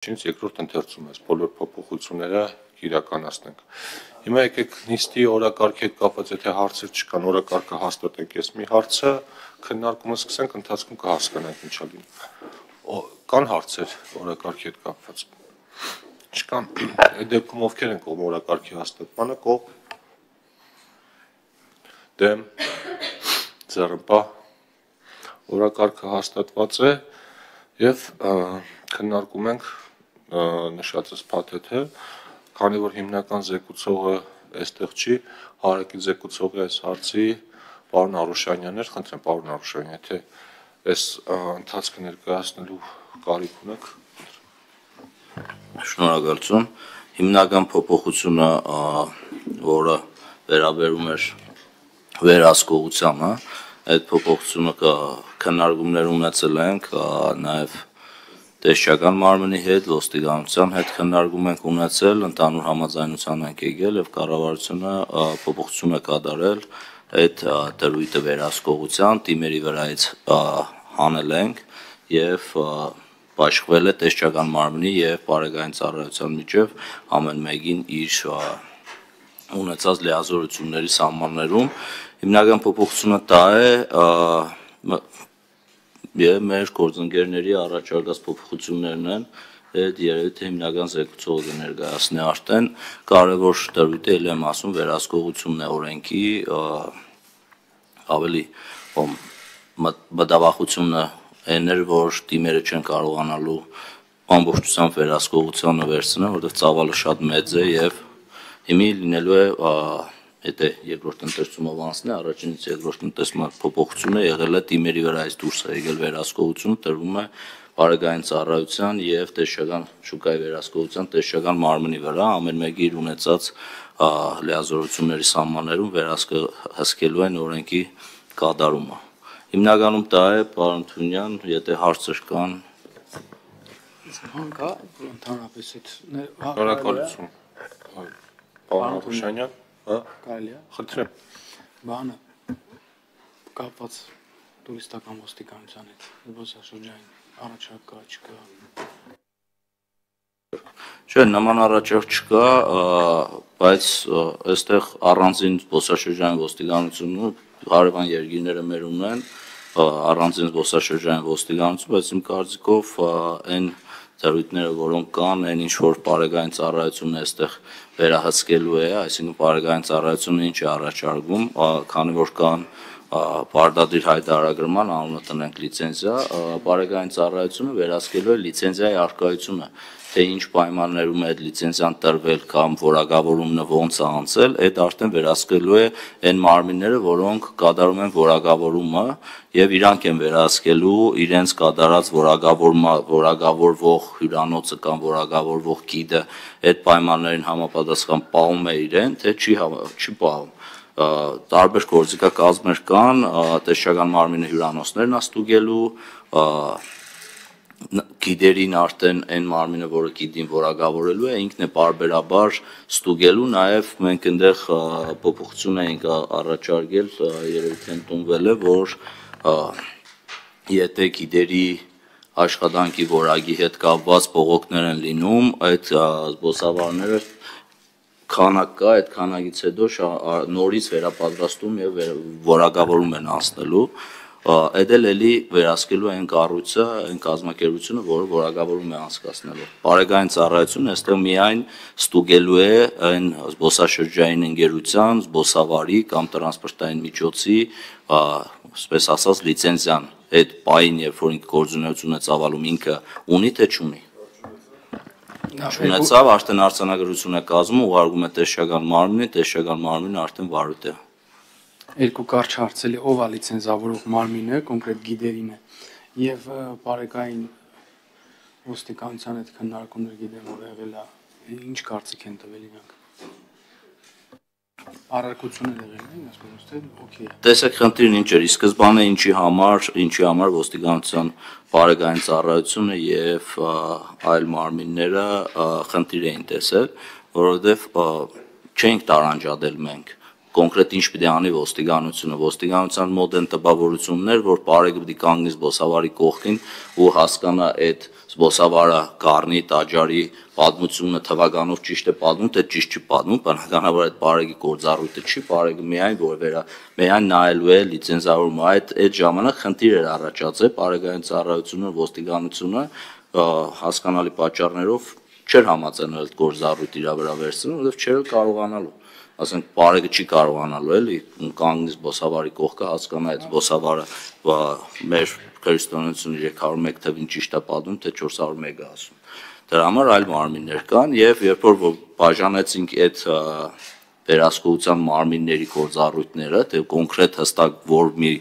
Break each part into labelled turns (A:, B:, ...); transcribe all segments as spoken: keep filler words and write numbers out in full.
A: Ինչից երկրորդ ընթերցում ես բոլոր փոփոխությունները իրականացնենք։ Հիմա եկեք նիստի օրակարգի հետ կապված եթե հարցեր չկան, օրակարգը հաստատենք, ես մի հարցը քննարկումը սկսենք, ընթացքում կհասկանանք ինչա լինի։ Կան հարցեր օրակարգի հետ կապված։ Չկան։ Այդ դեպքում ովքեր են կողմ օրակարգի հաստատմանը, կողմ դեմ ձեռնպահ օրակարգը հաստատված է եւ քննարկում ենք նշածս փաթեթը, քանի որ հիմնական զեկուցողը այստեղ չի, հարակի զեկուցողի այս հարցի պարոն Արուշանյանն էր, խնդրեմ պարոն Արուշանյան, եթե այս ընթացքը ներկայացնելու կարիք ունեք։
B: Շնորհակալություն։ Հիմնական փոփոխությունը, որը վերաբերում էր վերահսկողությանը, այդ փոփոխությունը քննարկումներ ունեցել ենք նաև տեսչական մարմնի հետ, ոստիկանության հետ քննարկում ենք ունեցել, ընդհանուր համաձայնության ենք եկել եւ կառավարությունը փոփոխություն է կատարել այդ դրույթը վերահսկողության թիմերի վրայից հանել ենք եւ բաշխվել է տեսչական մարմնի եւ բարեկային ծառայության միջև ամեն մեկին իր ունեցած լիազորությունների սահմաններում։ Հիմնական փոփոխությունը դա է եւ մեր գործընկերների առաջարկած փոփոխություններն են, այդ երևի թե հիմնական զեկուցողը կներկայացնի արդեն կարևոր դրույթը ել եմ ասում վերահսկողությունն է օրենքի ավելի մտավախությունը այն էր, որ թիմերը չեն կարողանալու ամբողջությամբ վերահսկողությանը վերցնել, որովհետեւ ծավալը շատ մեծ է եւ հիմի լինելու է Եթե երկրորդ ընթերցումով անցնի, առաջինից երկրորդ ընթերցման փոփոխությունը եղել է թիմերի վրայից դուրս է եկել վերահսկողությունը, տրվում է բարեկային ծառայության եւ տեսչական շուկայի վերահսկողության տեսչական մարմնի վրա, ամեն մեկի իր ունեցած լիազորությունների սահմաններում վերահսկելու են օրենքի կատարումը։ Հիմնականում դա է, պարոն Թունյան, եթե հարցեր կան։
C: Բան կա, ընդհանրապես այդ
A: Շնորհակալություն։ Պարոն Արուշանյան
C: Կարելի է։
A: Խնդրեմ։
C: Բանը կապված տուրիստական ոստիկանության հետ, զբոսաշրջային առաջարկ կա, չկա։
B: Չէ, նման առաջարկ չկա, բայց այստեղ առանձին զբոսաշրջային ոստիկանությունը հարևան երկիրները մեր ունեն, առանձին զբոսաշրջային ոստիկանություն, բայց իմ կարծիքով այն դրույթները, որոնք կան, այն ինչ որ բարեկային ծառայությունը այստեղ վերահսկելու է, այսինքն բարեկային ծառայությունը ինչ է առաջարկում, քանի որ կան պարտադիր հայտարարագրման անունը տնենք լիցենզիա, բարեկային ծառայությունը վերահսկելու է լիցենզիայի առկայությունը, թե ինչ պայմաններում է այդ լիցենզիան տրվել կամ որակավորումն ոնց է անցել, այդ արդեն վերահսկելու է այն մարմինները, որոնք կատարում են որակավորումը եւ իրանք են վերահսկելու իրենց կատարած որակավորվող հյուրանոցը կամ որակավորվող գիդը այդ պայմաններին համապատասխան պահում է իրեն, թե չի չի պահում։ Տարբեր գործիքակազմեր կան, տեսչական մարմինը հյուրանոցներն է ստուգելու, գիդերին արդեն այն մարմինը, որը գիդին որակավորելու է, ինքն է պարբերաբար ստուգելու, նաև մենք այնտեղ փոփոխություն ենք առաջարկել, երևի թե ընդունվել է, որ եթե գիդերի աշխատանքի որակի հետ կապված բողոքներ են լինում, այդ զբոսավարները քանակ կա, այդ քանակից հետո նորից վերապատրաստում եւ որակավորում են անցնելու, այդ էլ էլի վերահսկելու են կառույցը, այն կազմակերպությունը, որը որակավորում է անցկացնելու։ Բարեկային ծառայությունը այստեղ միայն ստուգելու է այն զբոսաշրջային ընկերության, զբոսավարի կամ տրանսպորտային միջոցի, այսպես ասած, լիցենզիան, այդ պահին, երբ որ ինքը գործունեություն է ծավալում, ինքը ունի թե չունի։ Ունեցավ, արդեն արձանագրություն է կազմում, ուղարկում է տեսչական մարմնին, տեսչական մարմինը արդեն վարույթ է։
C: Երկու կարճ հարցելի, ով է լիցենզավորող մարմինը, կոնկրետ գիդերին է, եւ բարեկային ոստիկանության հետ քննարկումներ գիտեմ, որ եղել է, ինչ կարծիք են տվել իրանք։ Առարկություններ եղել են, ասում եմ, թե օքեյ է։
B: Տեսեք, խնդիրն ինչ էր, ի սկզբանե ինչի համար, ինչի համար ոստիկանության բարեկային ծառայությունը եւ այլ մարմինները խնդիր էին տեսել, որովհետեւ չենք տարանջատել մենք կոնկրետ ինչ պիտի անի ոստիկանությունը, ոստիկանության մոտ են տպավորություններ, որ բարեկը պիտի կանգնի զբոսավարի կողքին ու հասկանա այդ զբոսավարը կառնի տաճարի պատմությունը թվականով ճիշտ է պատմում, թե ճիշտ չի պատմում, բնականաբար այդ բարեգի գործառույթը չի, բարեգը միայն որ վերա միայն նայելու է լիցենզավորումը, այդ այդ ժամանակ խնդիր էր առաջացել, բարեգային ծառայությունը, ոստիկանությունը հասկանալի պատճառներով չէր համաձայնել այդ գործառույթը իր վրա վերցնել, որովհետև չէր կարողանալու ասենք բարեգը չի կարողանալու էլի կանգնի զբոսավարի կողքը հասկանա այդ զբոսավարը մեր քրիստոնեությունը երեք հարյուր մեկ թվին ճիշտ է պատմում, թե չորս հարյուր մեկ է ասում։ Դրա համար այլ մարմիններ կան եւ երբ որ բաժանեցինք այդ վերահսկողության մարմինների գործառույթները, թե կոնկրետ հստակ որ մի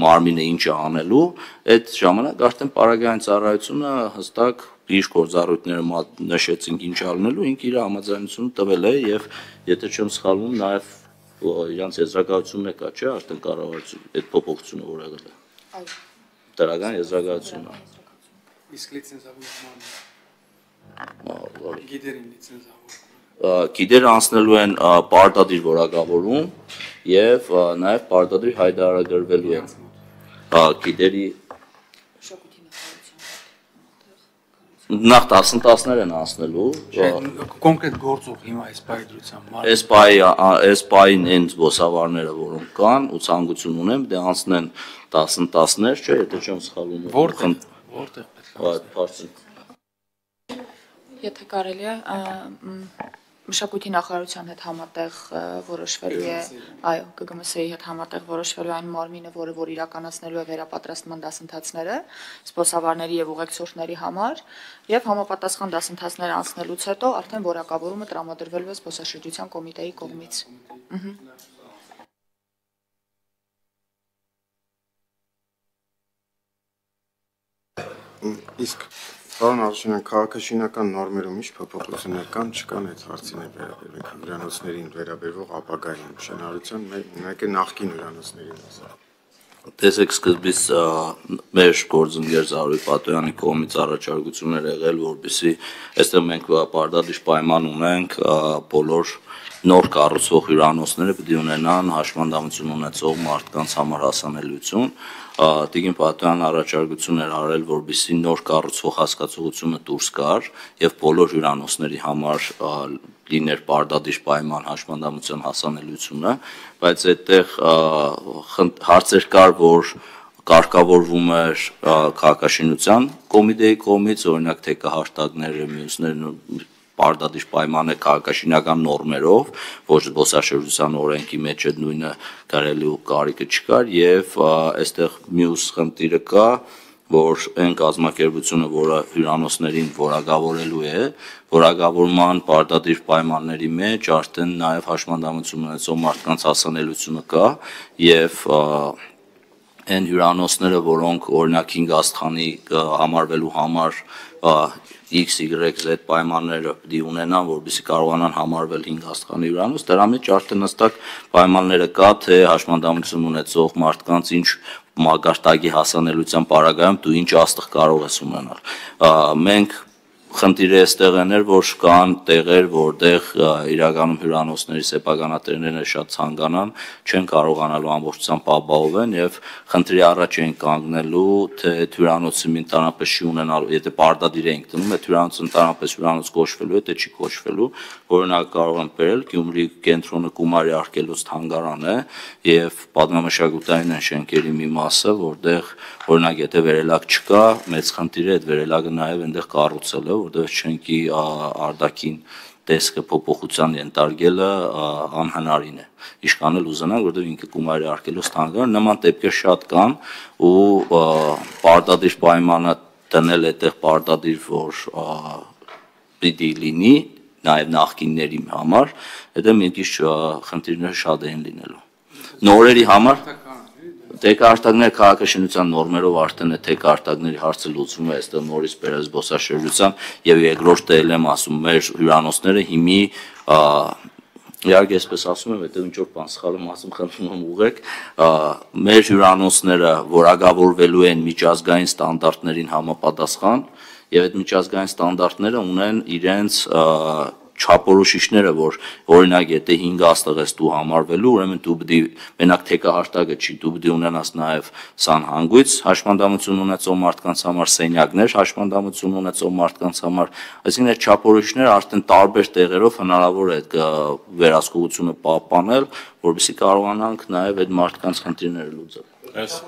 B: մարմինը ինչ է անելու, այդ ժամանակ արդեն բարեգային ծառայությունը հստակ իր գործառույթները նշեցինք ինչ անելու, ինքը իր համաձայնությունը տվել է եւ եթե չեմ սխալվում նաեւ իրանց եզրակացությունն է կա, չէ՞, արդեն կառավարություն այդ փոփոխությունը որ եղել է։ Այո։ Դրական եզրակացությունը։
C: Իսկ լիցենզավորումը գիդերին լիցենզավորում։
B: Գիդերը անցնելու են պարտադիր որակավորում եւ նաեւ պարտադիր հայտարարագրվելու են գիդերի նախ տասնտասներ են անցնելու
C: կոնկրետ գործող հիմա էսպայի դրությամբ
B: էսպայի էսպային այն զբոսավարները որոնք կան ու ցանկություն ունեն դե անցնեն տասնտասներ չէ եթե չեմ սխալվում
C: որտեղ որտեղ
B: պետք է
D: եթե կարելի է Մշակույթի նախարարության հետ համատեղ որոշվելու է, այո, Գ Գ M S-ի հետ համատեղ որոշվելու այն մարմինը, որը որ իրականացնելու է վերապատրաստման դասընթացները զբոսավարների եւ ուղեկցորդների համար, եւ համապատասխան դասընթացները անցնելուց հետո արդեն որակավորումը տրամադրվելու է զբոսաշրջության կոմիտեի կողմից։
E: Իսկ Պարոն Ալշինյան, քաղաքաշինական նորմերում ինչ փոփոխություններ կան, չկան այդ հարցին է վերաբերվում հյուրանոցներին վերաբերող ապագային շինարարության, մեկ է նախկին հյուրանոցներին։
B: Տեսեք սկզբից մեր գործընկեր Զարուհի Պատոյանի կողմից առաջարկություններ եղել, որպեսզի այստեղ մենք պարտադիր պայման ունենք բոլոր նոր կառուցվող հյուրանոցները պետք է ունենան հաշմանդամություն ունեցող մարդկանց համար հասանելիություն։ Տիկին Պատոյանն առաջարկություն էր արել, որպեսզի նոր կառուցվող հասկացողությունը դուրս գար եւ բոլոր հյուրանոցների համար լիներ պարտադիր պայման հաշմանդամության հասանելիությունը, բայց այդտեղ հարցեր կար, որ կարգավորվում էր քաղաքաշինության կոմիտեի կողմից, օրինակ թե կհաշտակները, մյուսները պարտադիր պայման է քաղաքաշինական նորմերով, ոչ զբոսաշրջության օրենքի մեջ այդ նույնը կարելի ու կարիքը չկար եւ այստեղ մյուս խնդիրը կա, որ այն կազմակերպությունը, որը հյուրանոցներին որակավորելու է, որակավորման պարտադիր պայմանների մեջ արդեն նաեւ հաշմանդամություն ունեցող մարդկանց հասանելիությունը կա եւ այն հյուրանոցները, որոնք օրինակ հինգ աստղանի համարվելու համար X Y Z պայմանները պետք է ունենան, որպեսզի կարողանան համարվել հինգ աստղանի հյուրանոց, դրա մեջ արդեն հստակ պայմանները կա, թե հաշմանդամություն ունեցող մարդկանց ինչ մակարդակի հասանելիության պարագայում դու ինչ աստղ կարող ես ունենալ։ Մենք խնդիրը այստեղ էր, որ կան տեղեր, որտեղ իրականում հյուրանոցների սեփականատերերը շատ ցանկանան, չեն կարողանալու ամբողջությամբ ապահովեն եւ խնդրի առաջ են կանգնելու, թե հյուրանոցը ընդհանրապես չի ունենալու, եթե պարտադիր ենք դնում, այդ հյուրանոցը ընդհանրապես հյուրանոց կոչվելու է, թե չի կոչվելու, օրինակ կարող եմ բերել Գյումրի կենտրոնը Գումարի արգելոց թանգարան է եւ պատմամշակութային շենքերի մի մասը, որտեղ օրինակ եթե վերելակ չկա, մեծ խնդիր է այդ վերելակը նաեւ այնտեղ կառուցելը, որտեղ շենքի արտաքին տեսքը փոփոխության ենթարկելը անհնարին է։ Իշքան էլ ուզենանք, որտեղ ինքը Գումարի արգելոց թանգարան, նման դեպքեր շատ կան ու պարտադիր պայմանը դնել այդտեղ պարտադիր որ պիտի լինի նաև նախկինների համար, դա մի քիչ խնդիրները շատ են լինելու։ Նորերի համար Տեկարտակներ քաղաքաշինության նորմերով արդեն է տեկարտակների հարցը լուծվում է այստեղ նորից բերել զբոսաշրջության եւ երկրորդը էլ եմ ասում մեր հյուրանոցները հիմի իհարկե այսպես ասում եմ, հետո ինչ որ բան սխալ եմ ասում, խնդրում եմ ուղղեք, մեր հյուրանոցները որակավորվելու են միջազգային ստանդարտներին համապատասխան եւ այդ միջազգային ստանդարտները ունեն իրենց չափորոշիչները, որ օրինակ եթե հինգ աստղ ես դու համարվելու, ուրեմն դու պետք է մենակ թեկահարտակը չի, դու պետք է ունենաս նաև սանհանգույց հաշմանդամություն ունեցող մարդկանց համար, սենյակներ հաշմանդամություն ունեցող մարդկանց համար, այսինքն այդ չափորոշիչները արդեն տարբեր տեղերով հնարավոր է այդ վերահսկողությունը պահպանել, որովհետեւ կարողանանք նաև այդ մարդկանց խնդիրները լուծել։